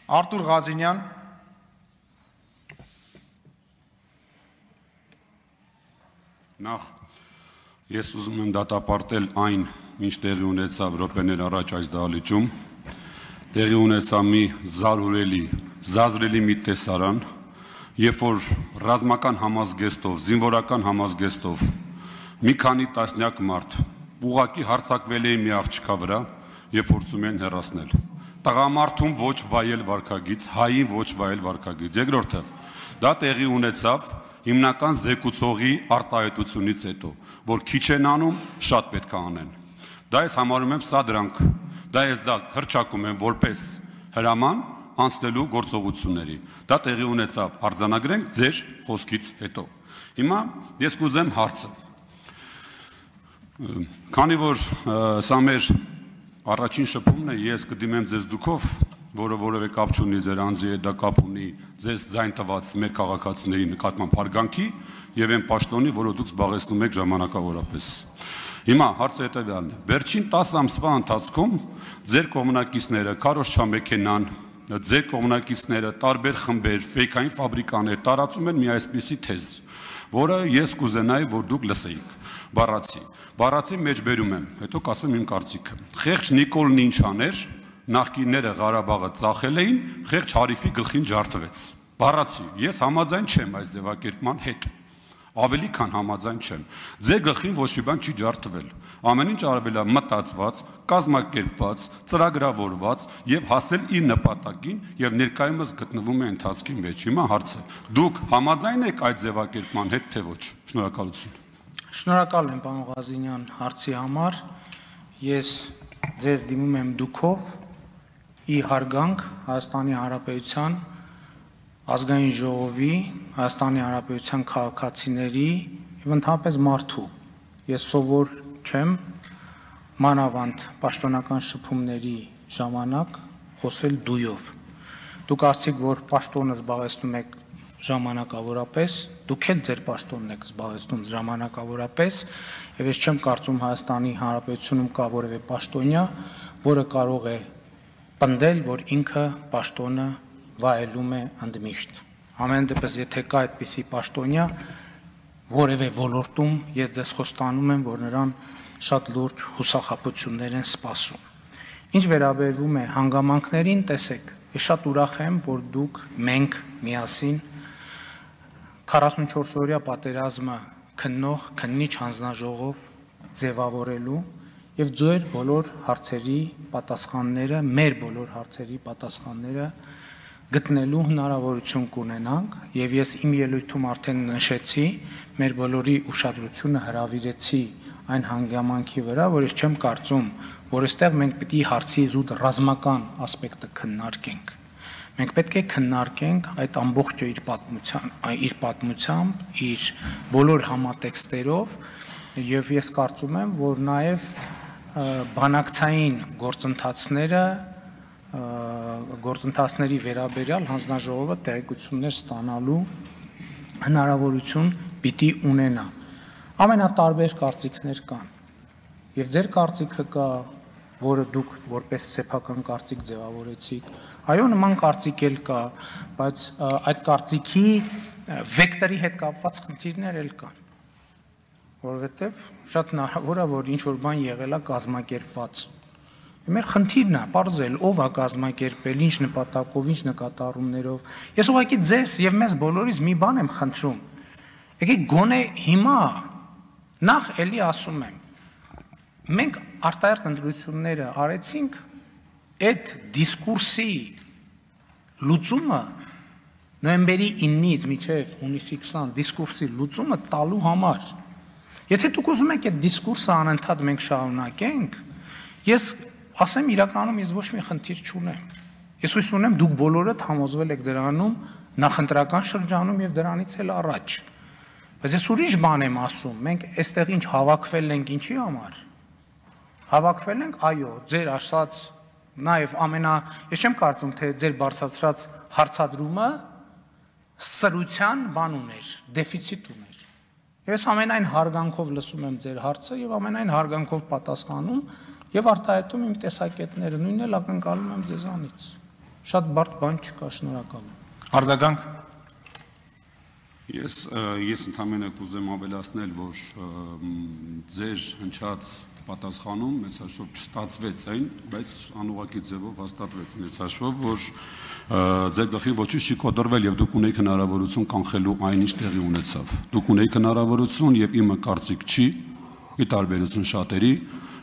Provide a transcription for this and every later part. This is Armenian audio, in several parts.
Արտուր Ղազինյան, Նախ ես ուզում եմ դատապարտել այն, ինչ տեղի ունեցավ րոպեներ առաջ այս դահլիճում, տեղի ունեցավ մի զազրելի մի տեսարան, երբ որ ռազմական համազգեստով, զինվորական համազգեստով մի քանի տասնյակ մարդ ուղղակի հարձակվել էին մի աղջկա վրա եւ փորձում են հեռացնել։ Տղամարդուն ոչ վայել վարքագիծ, հային ոչ վայել վարքագիծ։ Երկրորդը, դա տեղի ունեցավ հիմնական զեկուցողի արտահայտությունից հետո, որ քիչ են անում, շատ պետք է անեն։ Դա ես համարում եմ սա դրանք, դա հրճակում եմ որպես հրաման անցնելու գործողությունների։ Դա տեղի ունեցավ, արձանագրենք ձեր խոսքից հետո։ Հիմա ես կուզեմ հարցը։ Քանի որ սա մեր առաջին շփումն է, ես կդիմեմ ձեզ դուքով, որը որևէ կապ չունի ձեր անձի հետ, դա կապ ունի ձեզ ձայն տված մեր քաղաքացիների նկատմամբ հարգանքի եւ այն պաշտոնի, որը դուք զբաղեցնում եք ժամանակավորապես։ Հիմա հարցը հետեւյալն է. վերջին 10 ամսվա ընթացքում ձեր կողմնակիցները, քարոզչամեքենան, ձեր կողմնակիցները, տարբեր խմբեր, ֆեյքային ֆաբրիկաներ տարածում են մի այսպիսի թեզ, որը ես կուզենայի, որ դուք լսեիք։ Բառացի մեջ բերում եմ, հետո կասեմ իմ կարծիքը։ Խեղճ Նիկոլն ինչ աներ, նախկինները Ղարաբաղը ծախել էին, խեղճ Հարիֆի գլխին ջարդվեց։ Բառացի, ես համաձայն չեմ այս ձևակերպման հետ։ Ավելի քան համաձայն չեմ։ Ձեր գլխին ոչ մի բան չի ջարդվել։ Ամեն ինչ արվել է մտածված, կազմակերպված, ծրագրավորված եւ հասել իր նպատակին եւ ներկայումս գտնվում է ընթացքի մեջ։ Հիմա հարցը. դուք համաձայն եք այդ ձևակերպման հետ, թե ոչ։ Շնորհակալություն։ Շնորհակալ եմ, պարոն Ղազինյան, հարցի համար։ Ես ձեզ դիմում եմ դուքով ի հարգանք Հայաստանի Հանրապետության ազգային ժողովի, Հայաստանի Հանրապետության քաղաքացիների եւ ընդհանրապես մարդու։ Ես սովոր չեմ մանավանդ պաշտոնական շփումների ժամանակ խոսել դույով։ Դուք ասացիք, որ պաշտոնը զբաղեցնում եք ժամանակավորապես, դուք էլ ձեր պաշտոնն եք զբաղեցնում ժամանակավորապես, եւ ես չեմ կարծում Հայաստանի Հանրապետությունում կա որևէ պաշտոնյա, որը կարող է պնդել, որ ինքը պաշտոնը վայելում է ընդմիշտ։ Ամեն դեպս, եթե կա այդպիսի պաշտոնյա, որևէ ոլորտում ես ձեզ խոստանում եմ, որ նրան շատ լուրջ հուսախաբություններ են սպասում։ Ինչ վերաբերվում է հանգամանքներին, տեսեք, ես շատ ուրախ եմ, որ դուք մենք միասին 44-օրյա պատերազմը քննիչ հանձնաժողով ձևավորելու եւ ձեր բոլոր հարցերի պատասխանները, մեր բոլոր հարցերի պատասխանները գտնելու հնարավորություն կունենանք եւ ես իմ ելույթում արդեն նշեցի, մեր բոլորի ուշադրությունը հրավիրեցի այն հանգամանքի վրա, որ ես չեմ կարծում, որ այստեղ մենք պիտի հարցի զուտ ռազմական ասպեկտը քննարկենք։ Մենք պետք է քննարկենք այդ ամբողջը իր պատմությամբ, իր բոլոր համատեքստերով եւ ես կարծում եմ, որ նաեւ բանակցային գործընթացների վերաբերյալ հանձնաժողովը տեղեկություններ ստանալու հնարավորություն պիտի ունենա։ Ամենատարբեր կարծիքներ կան եւ ձեր կարծիքը կա, որը դուք որպես սեփական կարծիք ձևավորեցիք։ Այո, նման կարծիք էլ կա, բայց այդ կարծիքի վեկտորի հետ կապված խնդիրներ էլ կան, որովհետև շատ հնարավոր է, որ ինչ-որ բան եղել է կազմակերպված։ Մեր խնդիրն է պարզել, ով է կազմակերպել, ինչ նպատակով, ինչ նկատառումներով։ Ես ուղղակի ձեզ եւ մեզ բոլորից մի բան եմ խնդրում։ Եկեք գոնե հիմա նախ էլի ասում եմ, մենք արտահերթ ընտրությունները արեցինք այդ դիսկուրսի լուծումը նոյեմբերի 9-ից մինչև հունիսի 20 դիսկուրսի լուծումը տալու համար։ Եթե դուք ուզում եք այդ դիսկուրսը անընդհատ մենք շարունակենք, ես ասեմ իրականում ես ոչ մի խնդիր չունեմ։ Ես հույս ունեմ դուք բոլորդ համոզվել եք դրանում նախընտրական շրջանում եւ դրանից էլ առաջ։ Բայց ես ուրիշ բան եմ ասում, մենք այստեղ ինչ հավաքվել ենք ինչի համար։ Հավաքվել ենք, այո, ձեր ասած նաև ես չեմ կարծում, թե ձեր բարձրացրած հարցադրումը սրության բան ուներ, դեֆիցիտ ուներ։ Ես ամենայն հարգանքով լսում եմ ձեր հարցը եւ ամենայն հարգանքով պատասխանում եւ արտահայտում իմ տեսակետները, նույնն էլ ակնկալում եմ ձեզանից։ Շատ բարդ բան չկա, շնորհակալ եմ։ Արձագանք։ Ես ընդհանրապես կուզեմ ավելացնել, որ ձեր հնչած պատասխանում մեծ հաշվով չստացվեց այն, բայց անուղղակի ձևով հաստատվեց մեծ հաշվով, որ ձեր գլխին ոչինչ չի կոտրվել եւ դուք ունեիք հնարավորություն կանխելու այն, ինչ տեղի ունեցավ։ Դուք ունեիք հնարավորություն եւ իմը կարծիք չի, ի տարբերություն շատերի,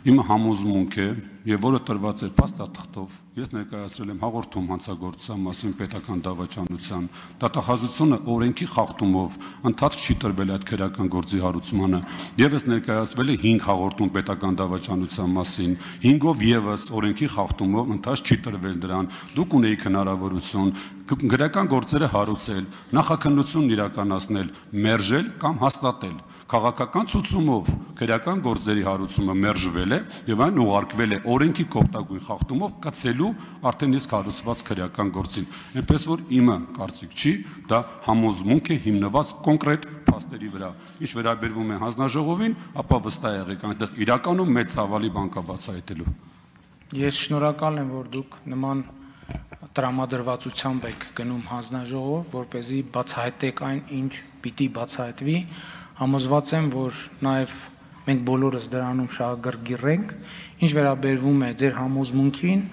իմը համոզմունք է եւ որը տրված է փաստաթղթով։ Ես ներկայացրել եմ հաղորդում հանցագործության մասին պետական դավաճանության դատախազությունը օրենքի խախտումով ընթացք չի տրվել այդ քրեական գործի հարուցմանը եւս ներկայացվել է 5 հաղորդում պետական դավաճանության մասին 5-ով եւս օրենքի խախտումով ընթացք չի տրվել դրան դուք ունեիք հնարավորություն քրեական գործերը հարուցել նախաքննություն իրականացնել մերժել կամ հաստատել քաղաքական ցուցումով քրեական գործերի հարուցումը մերժվել է եւ այն ուղարկվել է օրենքի կոպտագույն խախտումով կցելու արդեն իսկ հարուցված քրեական գործին այնպես որ իմը կարծիք չի դա համոզմունք է հիմնված կոնկրետ փաստերի վրա ինչ վերաբերվում է հանձնաժողովին ապա վստահ եղեք այնտեղ իրականում մեծ ցավալի բան կա բացահայտելու Ես շնորհակալ եմ որ դուք նման տրամադրվածությամբ եք գնում հանձնաժողով որպեսզի բացահայտեք այն ինչ պիտի բացահայտվի Համոզված եմ, որ նաև մենք բոլորս դրանում շահագրգիռ ինչ վերաբերվում է ձեր համոզմունքին,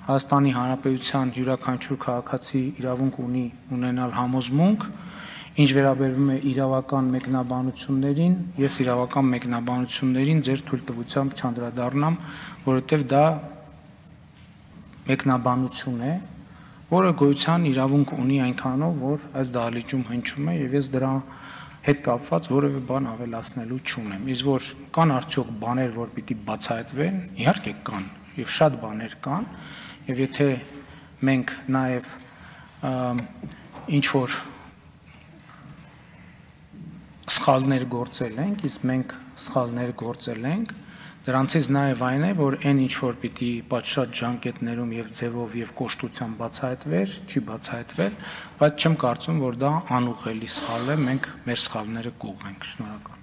Հայաստանի Հանրապետության յուրաքանչյուր քաղաքացի իրավունք ունի ունենալ համոզմունք, ինչ վերաբերվում է իրավական մեկնաբանություններին, ես իրավական մեկնաբանություններին ձեր թույլտվությամբ չանդրադառնամ, որովհետև դա մեկնաբանություն է, որը գոյության իրավունք ունի այնքանով, որ այս դահլիճում հնչում է եւ ես դրա հետ կապված որևէ բան ավելացնելու չունեմ։ Իսկ որ կան արդյոք բաներ, որ պիտի բացահայտվեն, իհարկե կան, եւ շատ բաներ կան, եւ եթե մենք նաեւ ինչ որ սխալներ գործել ենք, իսկ մենք սխալներ գործել ենք, դրանցից նաեւ այն է, որ այն ինչ որ պիտի պատշաճ ժանկետներում եւ ձևով եւ կոշտությամբ բացահայտվեր, չի բացահայտվել, բայց չեմ կարծում, որ դա անուղղելի սխալ է, մենք մեր սխալները կուղղենք, շնորհակալ